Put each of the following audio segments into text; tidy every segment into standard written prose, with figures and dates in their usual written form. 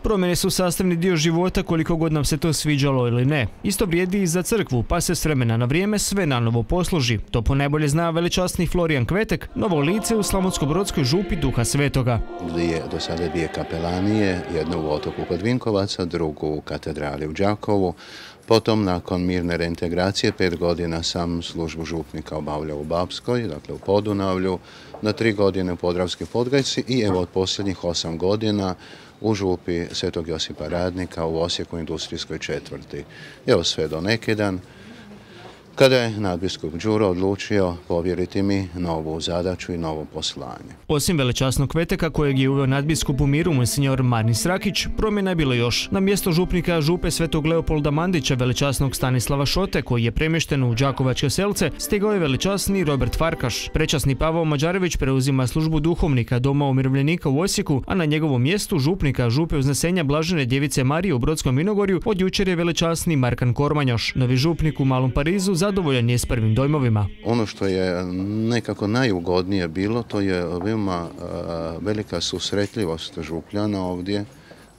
Promjene su sastavni dio života koliko god nam se to sviđalo ili ne. Isto vrijedi i za crkvu, pa se s vremena na vrijeme sve nanovo posloži. To ponajbolje zna velečasni Florijan Kvetek, novo lice u Slavonsko-brodskoj župi Duha Svetoga. Do sada dvije kapelanije, jednu u Otoku kod Vinkovaca, drugu u katedrali u Đakovu. Potom, nakon mirne reintegracije, 5 godina sam službu župnika obavljao u Bapskoj, dakle u Podunavlju, na 3 godine u Podravskoj Podgajci i evo od posljednjih 8 godina u župi Svetog Josipa Radnika u Osijeku industrijskoj četvrti. Evo sve do neki dan, kada je nadbiskup Đuro odlučio povjeriti mi novu zadaću i novo poslanje. Osim velečasnog Kveteka kojeg je uveo nadbiskup u miru monsignor Marni Srakić, promjena je bilo još. Na mjesto župnika župe Svetog Leopolda Mandića velečasnog Stanislava Šote, koji je premješten u Đakovačke Selce, stigao je velečasni Robert Farkaš. Prečasni Pavao Mađarević preuzima službu duhovnika Doma umirovljenika u Osijeku, a na njegovom mjestu župnika župe Uznesenja Blažene Djevice Marije u Brodskom Vinogorju od jučer je velečasni Markan Kormanjoš. Novi župnik u Malom Parizu zadovoljan je s prvim dojmovima. Ono što je nekako najugodnije bilo, to je veoma velika susretljivost župljana ovdje,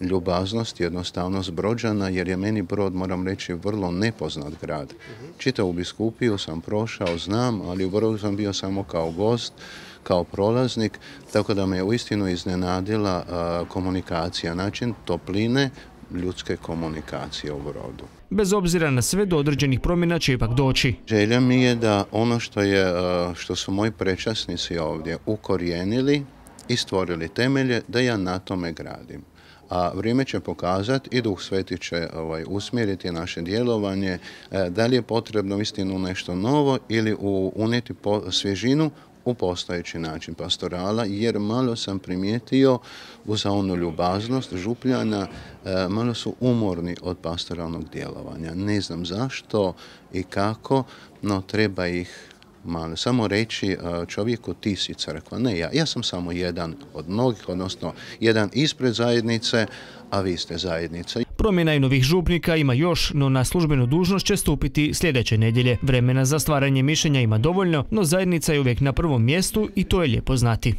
ljubaznost, jednostavnost Brođana, jer je meni Brod, moram reći, vrlo nepoznat grad. Čitavu biskupiju sam prošao, znam, ali u Brodu sam bio samo kao gost, kao prolaznik, tako da me uistinu iznenadila komunikacija, način topline, ljudske komunikacije u Brodu. Bez obzira na sve, do određenih promjena će ipak doći. Želja mi je da ono što su moji prečasnici ovdje ukorijenili i stvorili temelje, da ja na tome gradim. A vrijeme će pokazati i Duh Sveti će usmjeriti naše djelovanje, da li je potrebno istinu nešto novo ili unijeti svježinu u postojeći način pastorala, jer malo sam primijetio uz onu ljubaznost župljana, malo su umorni od pastoralnog djelovanja. Ne znam zašto i kako, no treba ih malo samo reći čovjeku ti si crkva. Ne, ja sam samo jedan od mnogih, odnosno jedan ispred zajednice, a vi ste zajednica. Promjena i novih župnika ima još, no na službenu dužnost će stupiti sljedeće nedjelje. Vremena za stvaranje mišljenja ima dovoljno, no zajednica je uvijek na prvom mjestu i to je lijepo znati.